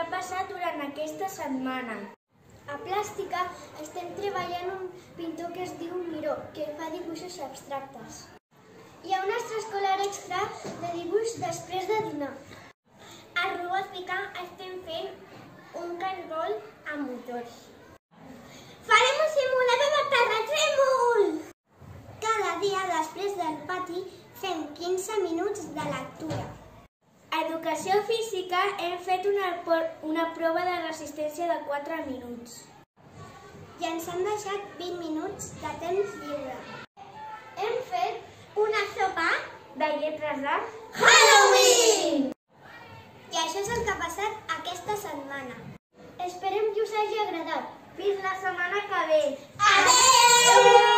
ha passat durant aquesta setmana? A Plàstica estem treballant un pintor que es diu Miró, que fa dibuixos abstractes. Hi ha una extraescolar extra de dibuix després de dinar. A Robòtica estem fent un cargol amb motors. Farem un simulador de terratrèmol! Cada dia després del pati fem 15 minuts de lectura. A Educació Física hem fet una prova de resistència de 4 minuts. I ens han deixat 20 minuts de temps lliure. Hem fet una sopa De lletres de Halloween! I això és el que ha passat aquesta setmana. Esperem que us hagi agradat. Fins la setmana que ve! Adéu!